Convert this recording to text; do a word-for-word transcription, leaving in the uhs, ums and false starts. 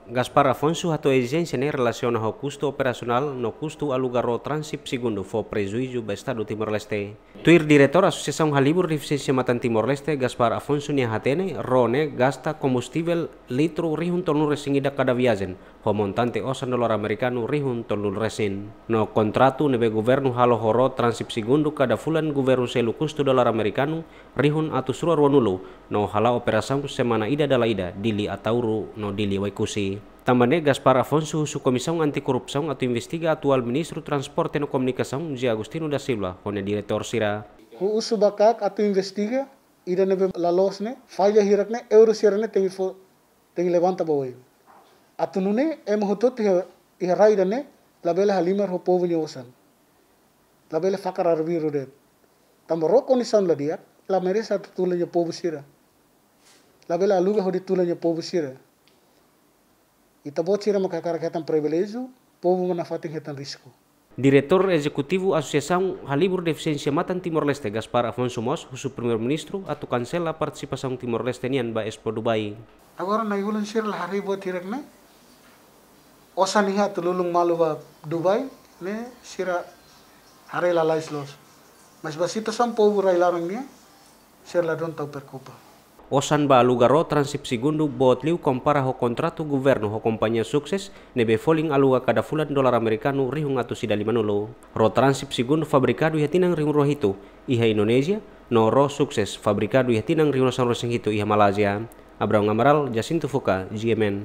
Gaspar Afonso hato'o ezijénsia ne'e relasiona ho kustu operasionál no kustu aluga ró Transip Segundu fó prejuízu ba Estadu Timor-Leste. Tuir Diretór Asosiasaun Halibur Defisiénsia Matan Timor-Leste, Gaspar Afonso nia hatene, ró ne'e gasta kombustivel litru rihun tolunulu-resin-ida kada viajen, ho montante osan dolar amerikanu rihun tolunulu-resin. No kontratu ne'ebé governu halo ho ró Transip Segundu kada fulan governu selu kustu dolar amerikanu rihun atus rua ruanulu, no hala'o operasaun semana ida dala ida, Dili Ataúro no Dili Oekusi. Tanba ne'e Gaspar Afonso husu Komisaun Anti-Korrupsaun atu investiga atuál Ministru Transporte no Komunikasaun, José Agostinho da Silva, ho nia diretór sira. Husu ba KAK atu investiga, ida ne'ebé la loos ne'e, falla hirak ne'e, erru sira ne'e tenke fó, tenke levanta ba oin. Atu nune'e, ema hotu-hotu iha, iha rai ida-ne'e, labele halimar ho povu nia osan. Labele fakar arbiru de'it. Tanba ró kondisaun la di'ak, la merese atu tula nia povu sira. Labele aluga hodi tula nia povu sira. Ita-boot sira maka hakarak hetan priviléjiu, povu mak nafatin hetan risku. Diretór Ezekutivu Asosiasaun Halibur Defisiénsia Matan Timor-Leste, Gaspar Afonso mós husu Primeiru-Ministru atu kansela partisipasaun Timor-Leste nian ba Expo Dubai. Agora nai-ulun sira la haree buat hirak ne'e. Osan iha atu lulun malu ba Dubai ne'e sira haree lalais loos. Mas ba situasaun povu rai-laran nian, sira ladún tau preokupa. Osan ba aluga ró Transip Segundu boot liu kompara ho kontratu governu ho kompañia Success, ne'ebé folin aluga kada fulan dolar amerikanu rihun atus ida limanulu. Ró Transip Segundu fabrikadu iha tinan rihun rua hitu iha Indonézia, no ró Success fabrikadu iha tinan rihun rua sanulu-resin-hitu iha Malázia. Abrão Amaral, Jacinto Fuca, G M N.